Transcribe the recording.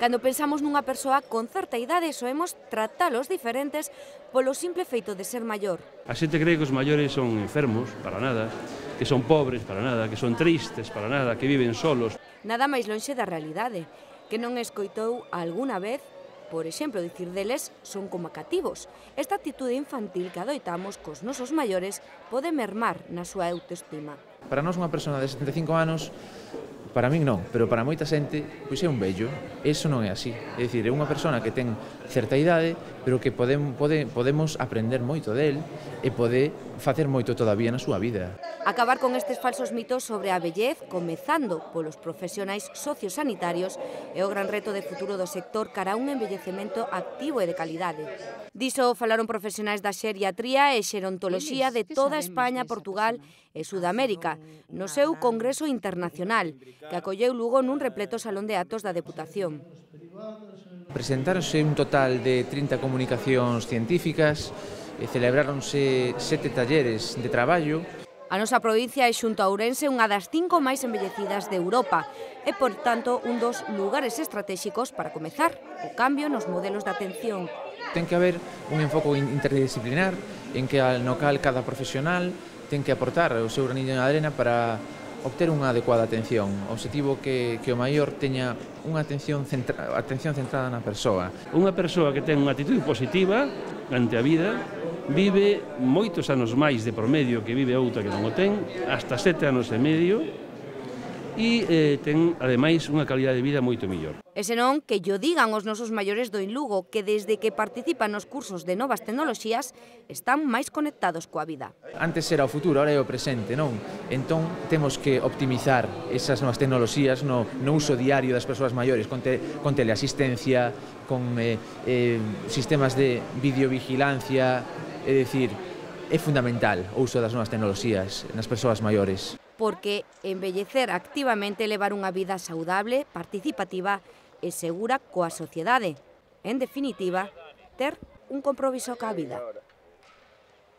Cando pensamos nunha persoa con certa idade, soemos tratalos diferentes polo simple feito de ser maior. A xente cree que os maiores son enfermos, para nada, que son pobres, para nada, que son tristes, para nada, que viven solos. Nada máis lonxe da realidade, que non escoitou algunha vez, por exemplo, dicir deles son como cativos. Esta actitude infantil que adoitamos cos nosos maiores pode mermar na súa autoestima. Para nós unha persona de 75 anos, para min non, pero para moita xente, pois é un vello. Eso non é así. É dicir, é unha persona que ten certa idade, pero que podemos aprender moito del e pode facer moito todavía na súa vida. Acabar con estes falsos mitos sobre a vellez, comezando polos profesionais sociosanitarios, é o gran reto de futuro do sector cara a un envellecemento activo e de calidade. Diso falaron profesionais da xeriatría e xerontoloxía de toda España, Portugal e Sudamérica, no seu Congreso Internacional, que acolleu Lugo nun repleto salón de actos da Deputación. Presentáronse un total de 30 comunicacións científicas e celebráronse 7 talleres de traballo. A nosa provincia é xunto a Ourense unha das 5 máis envellecidas de Europa e, por tanto, un dos lugares estratéxicos para comezar o cambio nos modelos de atención. Ten que haber un enfoque interdisciplinar en que no cal cada profesional ten que aportar o seu graniño de arena para obter unha adecuada atención. O obxectivo que o maior teña unha atención centrada na persoa. Unha persoa que ten unha actitude positiva ante a vida vive moitos anos máis de promedio que vive outra que non o ten, hasta 7 anos e medio, e ten, ademais, unha calidad de vida moito mellor. E senón que llo digan os nosos maiores do Lugo, que desde que participan nos cursos de novas tecnoloxías están máis conectados coa vida. Antes era o futuro, ahora é o presente, non? Entón, temos que optimizar esas novas tecnoloxías no uso diario das persoas maiores, con teleasistencia, con sistemas de videovigilancia, é dicir, é fundamental o uso das novas tecnoloxías nas persoas maiores. Porque envellecer activamente levar unha vida saudable, participativa e segura coa sociedade. En definitiva, ter un compromiso coa vida.